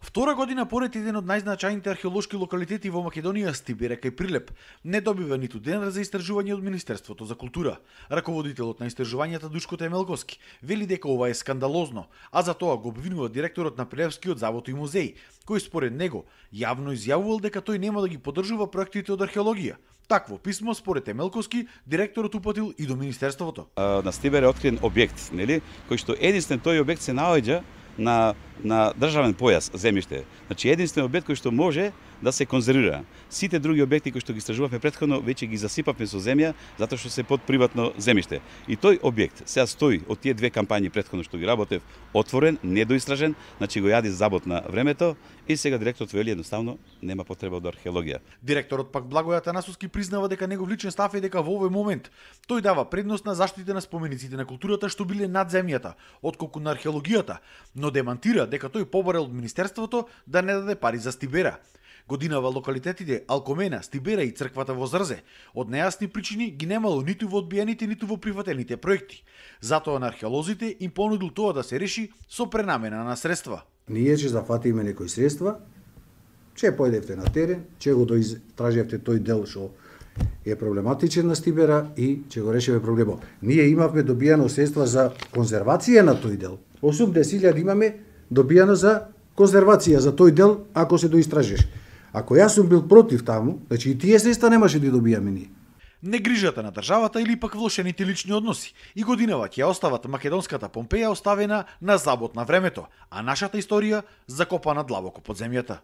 Втора година поред еден од најзначајните археолошки локалитети во Македонија, Стибере кај Прилеп, не добива ниту денар за истражување од Министерството за култура. Раководителот на истражувањата Душко Темелковски вели дека ова е скандалозно, а за тоа го обвинува директорот на Прилепскиот завод и музеј, кој според него јавно изјавувал дека тој нема да ги поддржува проектите од археологија. Такво писмо според Темелковски директорот упатил и до Министерството. На Стибере е открен објект, нели, кој што единствен тој објект се наоѓа на државен појас земјиште. Значи единствен објект кој што може да се конзервира. Сите други објекти кои што ги истражувавме претходно веќе ги засипавме со земја затоа што се под приватно земјиште. И тој објект сега стои од тие две кампањи претходно што ги работев отворен, недоистражен, значи го јади забот на времето и сега директорот вели едноставно нема потреба од археологија. Директорот пак Благој Атанасовски признава дека негов личен став е дека во овој момент тој дава предност на заштита на спомениците на културата што биле над земјата, отколку на археологијата, но демантира дека тој побарал од Министерството да не даде пари за Стибера. Годинава локалитетите Алкомена, Стибера и црквата во Зрзе од нејасни причини ги немало ниту во одбиените, ниту во прифатените проекти. Затоа на археолозите им понудил тоа да се реши со пренамена на средства. Ние ќе зафатиме некои средства, ќе појдевте на терен, ќе го доистражевте тој дел што е проблематичен на Стибера и ќе го решиме проблемот. Ние имавме добијано средства за конзервација на тој дел. 80.000 имаме добијано за конзервација за тој дел ако се доистражеш. Ако јас сум бил против таму, значи и тие средства немаше да добијаме ние. Негрижата на државата или пак влошените лични односи и годинава ќе остават македонската Помпеја оставена на забот на времето, а нашата историја закопана длабоко под земјата.